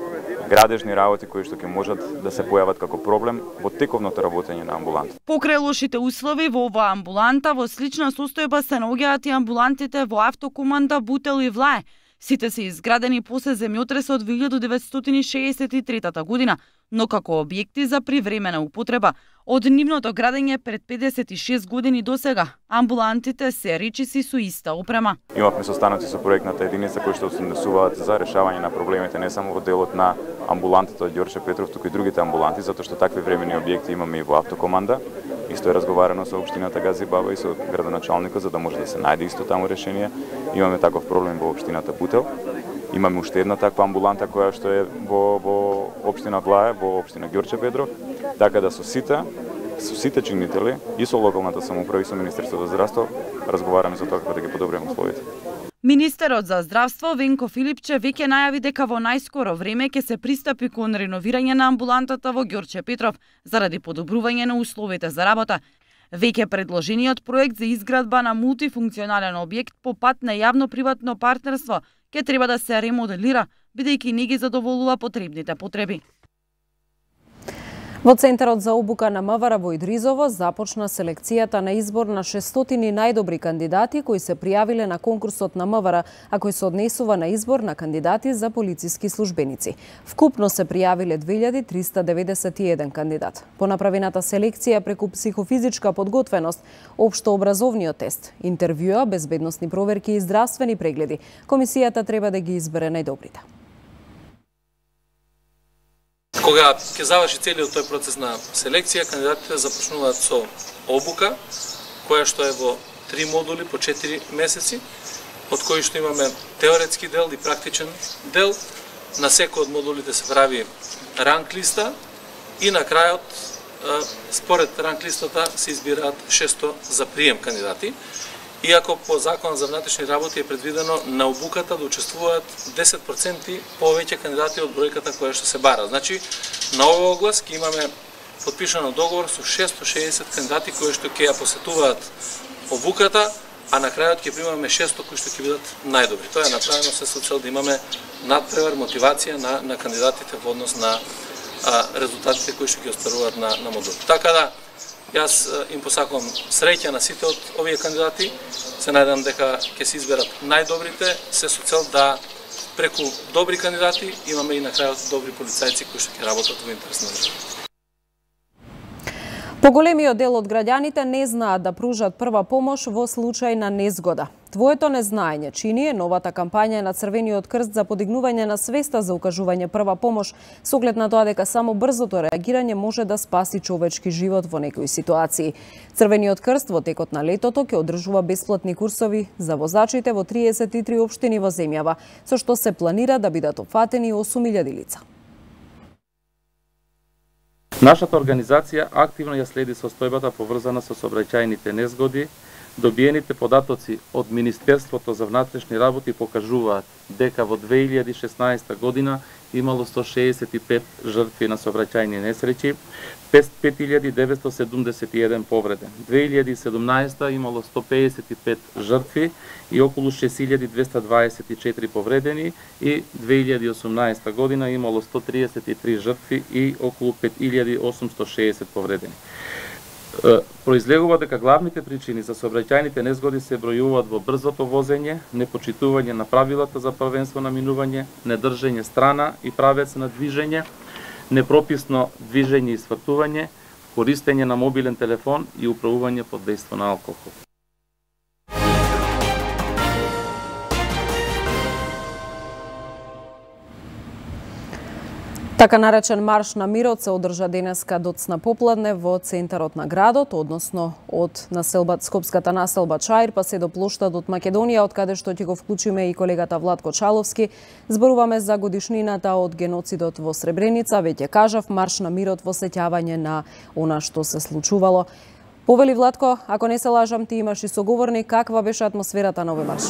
градежни работи кои што ќе можат да се појават како проблем во тековното работење на амбуланта. Покрај лошите услови во оваа амбуланта, во слична состојба се наоѓаат и амбулантите во Автокоманда Бутел и Влае. Сите се изградени после земјотресот од 1963 година, но како објекти за привремена употреба. Од нивното градење пред 56 години до сега, амбулантите се речиси со иста опрема. Имавме состаноци со проектната единица кои што се однесуваат за решавање на проблемите не само во делот на амбулантата од Ѓорче Петров, туку и другите амбуланти, затоа што такви времени објекти имаме и во Автокоманда. Исто е разговарано со општината Газибаба и со градоначалникот за да може да се најде исто таму решение. Имаме таков проблем во општината Бутел. Имаме уште една таква амбуланта која што е во општина Влае, во општина Ѓорче Петров, така да со сите чинители и со локалната самоуправа и со Министерството за здравство разговараме за тоа како да ги подобриме условите. Министерот за здравство Венко Филипче веќе најави дека во најскоро време ќе се пристапи кон реновирање на амбулантата во Ѓорче Петров заради подобрување на условите за работа. Веќе предложениот проект за изградба на мултифункционален објект по пат на јавно-приватно партнерство ќе треба да се ремоделира, бидејќи не ги задоволува потребните потреби. Во Центарот за обука на МВР во Идризово започна селекцијата на избор на 600 најдобри кандидати кои се пријавиле на конкурсот на МВР, а кој се однесува на избор на кандидати за полициски службеници. Вкупно се пријавиле 2391 кандидат. По направената селекција преку психофизичка подготвеност, општообразовниот тест, интервјуа, безбедносни проверки и здравствени прегледи, комисијата треба да ги избере најдобрите. Кога ќе заврши целиот тој процес на селекција, кандидатите започнуваат со обука, која што е во 3 модули по 4 месеци, од кои што имаме теоретски дел и практичен дел. На секој од модулите се прави ранг листа и на крајот, според ранг листата, се избираат 600 за прием кандидати. Иако по Законот за внатрешни работи е предвидено на обуката да учествуваат 10% повеќе кандидати од бројката која што се бара. Значи, на овој оглас ќе имаме подпишано договор со 660 кандидати кои што ќе ја посетуваат обуката, а на крајот ќе примаме 600 кои што ќе бидат најдобри. Тоа е направено се со цел да имаме надпревар, мотивација на кандидатите во однос на резултатите кои што ги остваруваат на модул. Така да, јас им посакувам среќа на сите од овие кандидати. Се најдам дека ќе се изберат најдобрите, се со цел да преку добри кандидати имаме и на крајот добри полицајци кои што ќе работат во интерес на државата. Поголемиот дел од граѓаните не знаат да пружат прва помош во случај на незгода. Твоето незнаење чини е новата кампања на Црвениот крст за подигнување на свеста за укажување прва помош, со оглед на тоа дека само брзото реагирање може да спаси човечки живот во некои ситуации. Црвениот крст во текот на летото ќе одржува бесплатни курсови за возачите во 33 општини во земјава, со што се планира да бидат опфатени 8000 лица. Нашата организација активно ја следи состојбата поврзана со сообраќајните незгоди. Добиените податоци од Министерството за внатрешни работи покажуваат дека во 2016 година имало 165 жртви на сообраќајни несреќи, 5971 повреден. 2017 имало 155 жртви и околу 6224 повредени и 2018 година имало 133 жртви и околу 5860 повредени. Произлегува дека главните причини за сообраќајните незгоди се бројуваат во брзото возење, непочитување на правилата за првенство на минување, недржење страна и правец на движење, непрописно движење и свртување, користење на мобилен телефон и управување под дејство на алкохол. Така наречен марш на мирот се одржа денеска доцна попладне во центарот на градот, односно од скопската населба Чаир па се до плоштадот Македонија, од каде што ќе го вклучиме и колегата Владко Чаловски. Зборуваме за годишнината од геноцидот во Сребреница. Веќе кажав, марш на мирот во сеќавање на она што се случувало. Повели Владко, ако не се лажам, ти имаш и соговорник, каква беше атмосферата на овој марш?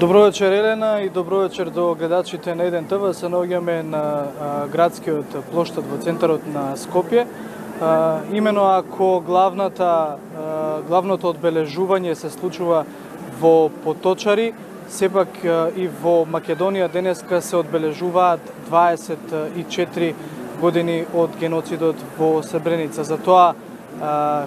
Добро вечер, Елена, и добро вечер до гледачите на Еден ТВ. Се наоѓаме на градскиот плоштад во центарот на Скопје. Имено ако главното одбележување се случува во Поточари, сепак и во Македонија денеска се одбележуваат 24 години од геноцидот во Сребреница. За тоа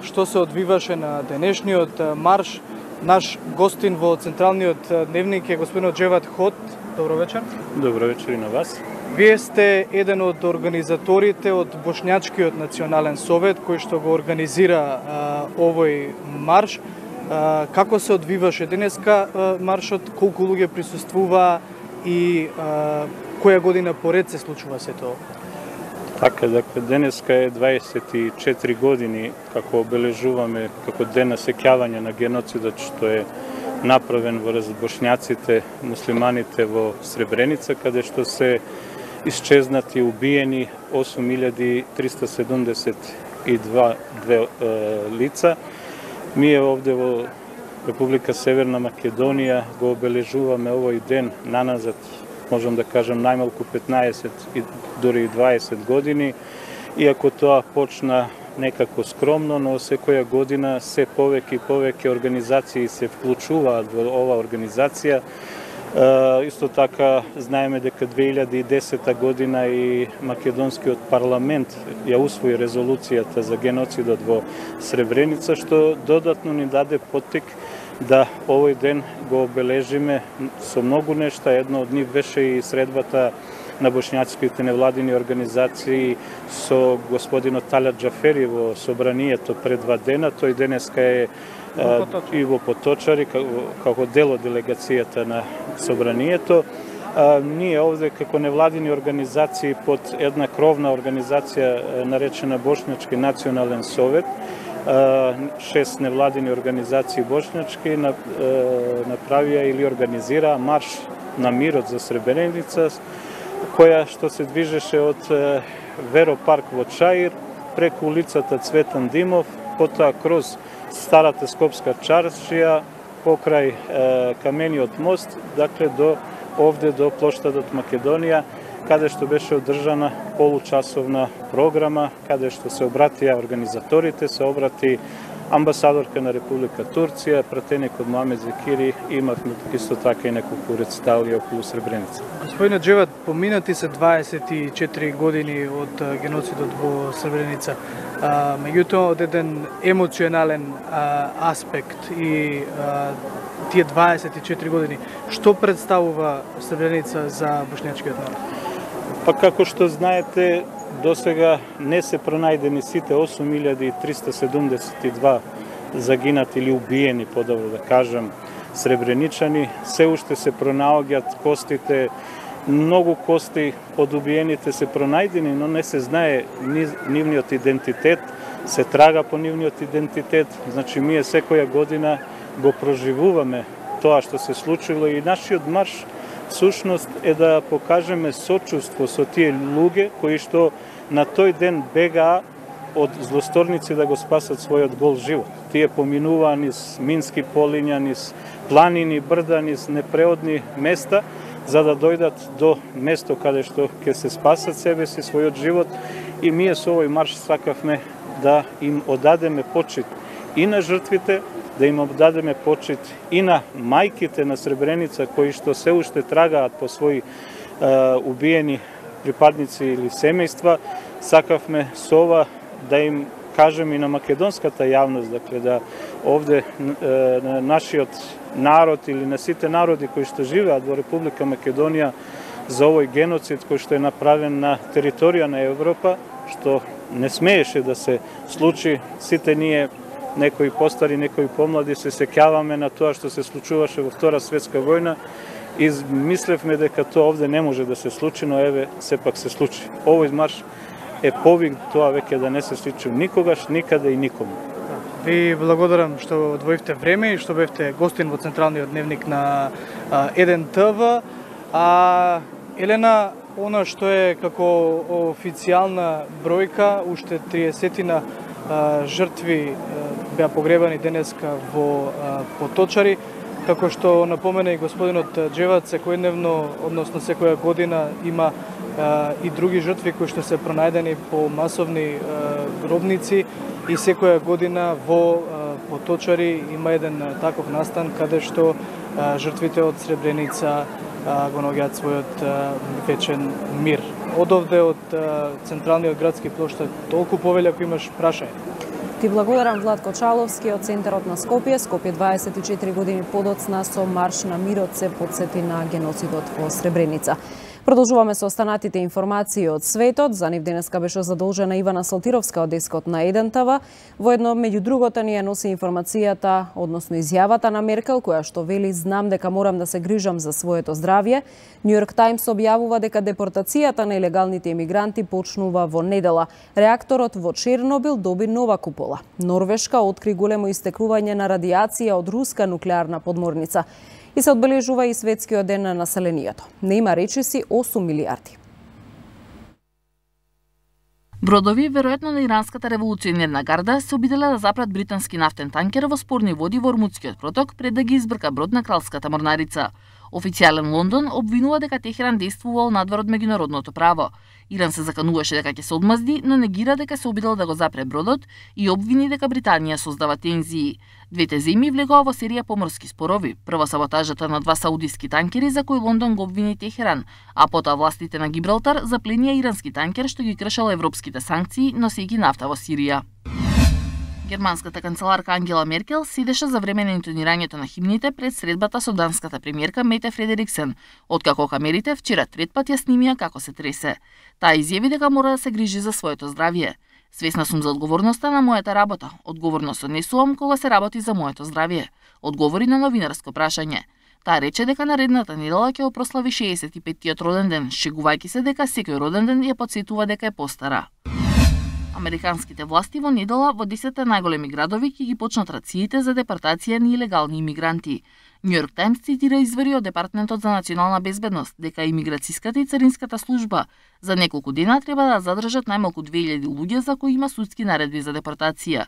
што се одвиваше на денешниот марш, наш гостин во централниот дневник е господинот Џевад Хот. Добро вечер. Добро вечер и на вас. Вие сте еден од организаторите од Бошњачкиот национален совет кој што го организира овој марш. Како се одвиваше денеска маршот, колку луѓе присуствуваа и која година поред се случува се тоа? Така, денеска е 24 години како обележуваме како ден на сеќавање на геноцидот што е направен во бошњаците, муслиманите во Сребреница, каде што се исчезнати, убиени 8372 лица. Ние овде во Република Северна Македонија го обележуваме овој ден наназад, можам да кажам, најмалку 15 и дури и 20 години, иако тоа почна некако скромно, но секоја година се повеќе и повеќе организации се вклучуваат во ова организација. Исто така знаеме дека 2010 година и македонскиот парламент ја усвои резолуцијата за геноцидот во Сребреница, што додатно ни даде поттик да овој ден го обележиме со многу нешта. Едно од нив беше и средбата на бошњачките невладини организации со господинот Талат Џафери во собранието пред 2 дена. Тој денеска е и во Поточари како дел од делегацијата на собранието. Ние овде како невладини организации под една кровна организација наречена Бошњачки национален совет, 6 невладини организации бошњачки направија или организираа марш на мирот за Сребреница, која што се движеше од Веропарк во Чаир, преку улицата Цветан Димов, потоа кроз Старата Скопска чаршија, покрај Камениот мост, дакле до овде до плоштадот Македонија, каде што беше одржана получасовна програма, каде што се обратија организаторите, се обрати амбасадорка на Република Турција, пратеникот Муамед Зекири, имавме исто така и неколку рецитали околу Сребреница. Господине Џевад, поминати се 24 години од геноцидот во Сребреница. Меѓутоа, од еден емоционален аспект и тие 24 години, што представува Сребреница за бошњачкиот народ? Па како што знаете, досега не се пронајдени сите 8372 загинати или убиени, подобро да кажам, сребреничани. Се уште се пронаоѓаат костите, многу кости од убиените се пронајдени, но не се знае нивниот идентитет, се трага по нивниот идентитет. Значи, ние секоја година го проживуваме тоа што се случило и нашиот марш всушност е да покажеме сочувство со тие луѓе кои што на тој ден бегаа од злосторници да го спасат својот гол живот. Тие поминуваа низ мински полиња, низ планини, брда, низ непреодни места, за да дојдат до место каде што ќе се спасат себе си, својот живот. И ние со овој марш сакавме да им одадеме почит и на жртвите, да им одадеме почит и на мајките на Сребреница кои што се уште трагаат по своји убиени припадници или семејства. Сакавме со ова да им кажеме и на македонската јавност, дакле да овде на нашиот народ или на сите народи кои што живеат во Република Македонија за овој геноцид кој што е направен на територија на Европа, што не смееше да се случи. Сите ние, некои постари, некои помлади, се сеќаваме на тоа што се случуваше во Втора светска војна и мислевме дека тоа овде не може да се случи, но еве сепак се случи. Овој марш е повик тоа веќе да не се случи никогаш, никаде и никому. Ви благодарам што одвоивте време и што бевте гостин во централниот дневник на Еден ТВ. Елена, она што е како официјална бројка, уште 30 жртви беа погребани денеска во Поточари. Како што напомена и господинот Джевац, секојдневно, односно секоја година има и други жртви кои што се пронајдени по масовни гробници и секоја година во Поточари има еден таков настан каде што жртвите од Сребреница го наоѓаат својот вечен мир. Одовде од централниот градски плоштад толку повеќе ако имаш прашање. Ти благодарам, Владко Чаловски од центарот на Скопје. Скопје 24 години подоцна со марш на мирот се потсети на геноцидот во Сребреница. Продолжуваме со останатите информации од светот. За нив денеска беше задолжена Ивана Салтировска од дескот на 1 ТВ. Воедно, меѓу другото, ни ја носи информацијата, односно изјавата на Меркел, која што вели: знам дека морам да се грижам за своето здравје. Нью Йорк Таймс објавува дека депортацијата на илегалните емигранти почнува во недела. Реакторот во Чернобил доби нова купола. Норвешка откри големо истекување на радиација од руска нуклеарна подморница. И се одбележува и светскиот ден на населението. Не има речиси 8 милиарди. Бродови, веројатно на иранската револуционерна гарда, се обиделе да запрат британски нафтен танкер во спорни води во Ормутскиот проток пред да ги избрка брод на кралската морнарица. Официјален Лондон обвинува дека Техеран действувал надвор од меѓународното право. Иран се закануваше дека ќе се одмазди, но негира дека се обидел да го запре бродот и обвини дека Британија создава тензии. Двете земји влегоа во серија поморски спорови. Прво саботажата на 2 саудиски танкери за кои Лондон го обвини Техеран, а потоа властите на Гибралтар запленија ирански танкер што ги кршел европските санкции, носејќи нафта во Сирија. Германската канцеларка Ангела Меркел седеше за време на интонирањето на химните пред средбата со данската премиерка Мете Фредериксен, откако камерите вчера трет пат ја снимија како се тресе. Таа изјави дека мора да се грижи за своето здравје. Свесна сум за одговорноста на мојата работа. Одговорно се однесувам кога се работи за моето здравје, одговори на новинарско прашање. Таа рече дека наредната недела ќе прослави 65-тиот роден ден, шегувајќи се дека секој роден ден ја потсетува дека е постара. Американските власти во недела во 10 најголеми градови ќе ги почнат рациите за депортација на илегални имигранти. Нью Йорк Таймс цитира извори од Департментот за национална безбедност дека имиграцијската и царинската служба за неколку дена треба да задржат најмалку 2000 луѓе за кои има судски наредби за депортација.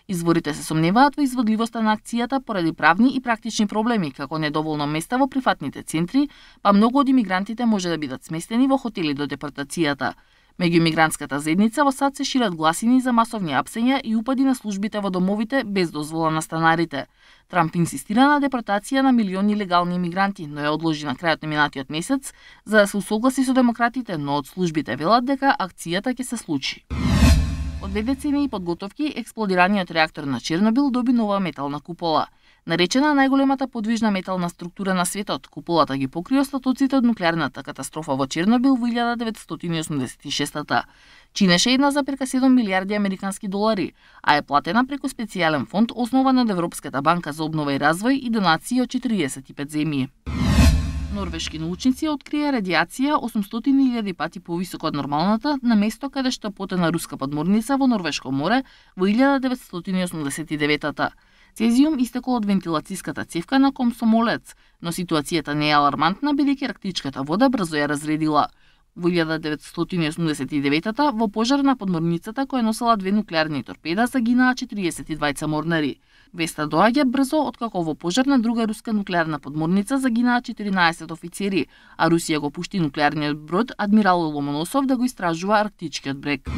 Изворите се сомневаат во изводливоста на акцијата поради правни и практични проблеми, како недоволно места во прифатните центри, па многу од имигрантите може да бидат сместени во хотели до депортацијата. Меѓу имигрантската заедница во САД се шират гласини за масовни апсења и упади на службите во домовите без дозвола на станарите. Трамп инсистира на депортација на милиони легални имигранти, но ја одложи на крајот на минатиот месец за да се усогласи со демократите, но од службите велат дека акцијата ќе се случи. Од 2 децении и подготовки, експлодираниот реактор на Чернобил доби нова метална купола. Наречена најголемата подвижна метална структура на светот, куполата ги покри остатоците од нуклеарната катастрофа во Чернобил во 1986-та. Чинеше 1,7 милиарди американски долари, а е платена преку специјален фонд основан од Европската банка за обнова и развој и донации од 45 земји. Норвешки научници открија радиација 800.000 пати повисока од нормалната на место каде што потона руска подморница во Норвешко море во 1989-та. Цезиум истекол од вентилацијската цевка на Комсомолец, но ситуацијата не е алармантна бидејќи арктичката вода брзо ја разредила. Во 1989-та во пожар на подморницата која носела 2 нуклеарни торпеда загинаа 42 морнари. Веста доаѓа брзо откако во пожар на друга руска нуклеарна подморница загинаа 14 офицери, а Русија го пушти нуклеарниот брод Адмирал Ломоносов да го истражува арктичкиот брег.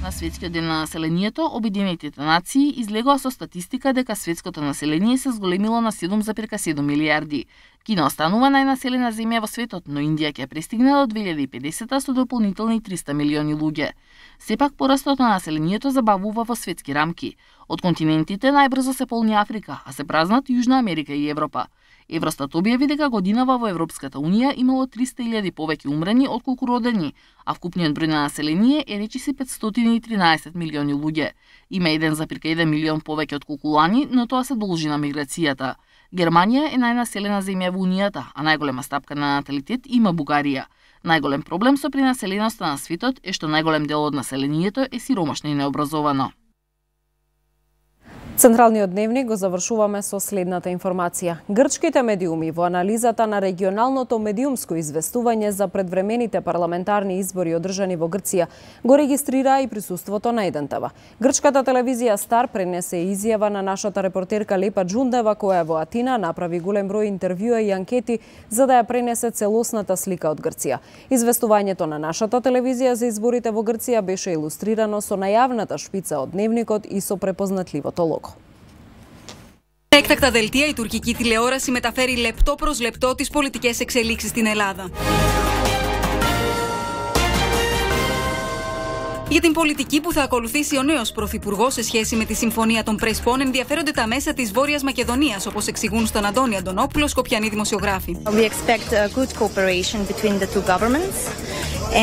На светскиот ден на населението, Обединетите нации излегоа со статистика дека светското население се зголемило на 7,7 милиарди. Кина останува најнаселена земја во светот, но Индија ќе пристигне до 2050 со дополнителни 300 милиони луѓе. Сепак порастот на населението забавува во светски рамки. Од континентите најбрзо се полни Африка, а се празнат Јужна Америка и Европа. Евростат објави дека годинава во Европската Унија имало 300.000 повеќе умрени отколку родени, а вкупниот број на население е речиси 513 милиони луѓе. Има 1,1 милион повеќе отколку лани, но тоа се должи на миграцијата. Германија е најнаселена земја во Унијата, а најголема стапка на наталитет има Бугарија. Најголем проблем со пренаселеноста на светот е што најголем дел од населението е сиромашно и необразовано. Централниот дневник го завршуваме со следната информација. Грчките медиуми во анализата на регионалното медиумско известување за предвремените парламентарни избори одржани во Грција го регистрираа и присуството на НТВ. Грчката телевизија Стар пренесе изјава на нашата репортерка Лепа Джундева, која во Атина направи голем број интервјуа и анкети за да ја пренесе целосната слика од Грција. Известувањето на нашата телевизија за изборите во Грција беше илустрирано со најавната шпица од дневникот и со препознатливото лого. Έκτακτα δελτία, η τουρκική τηλεόραση μεταφέρει λεπτό προς λεπτό τις πολιτικές εξελίξεις στην Ελλάδα. Για την πολιτική που θα ακολουθήσει ο νέος πρωθυπουργός σε σχέση με τη Συμφωνία των Πρεσπών ενδιαφέρονται τα μέσα της Βόρειας Μακεδονίας, όπως εξηγούν στον Αντώνη Αντωνόπουλο, σκοπιανοί δημοσιογράφοι. We expect a good cooperation between the two governments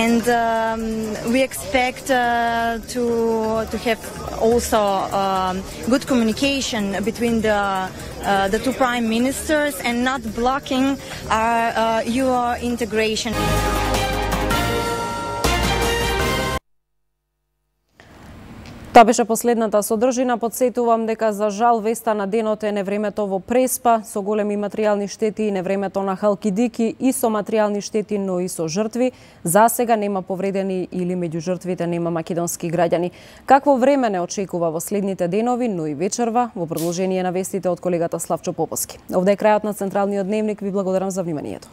and we expect to have also good communication between the two prime ministers and not blocking your integration. Тоа беше последната содржина. Подсетувам дека за жал веста на денот е невремето во Преспа со големи материјални штети и невремето на Халкидики и со материјални штети, но и со жртви. За сега нема повредени или меѓу жртвите нема македонски граѓани. Какво време не очекува во следните денови, но и вечерва, во продолжение на вестите од колегата Славчо Поповски. Овде е крајот на Централниот дневник. Ви благодарам за вниманието.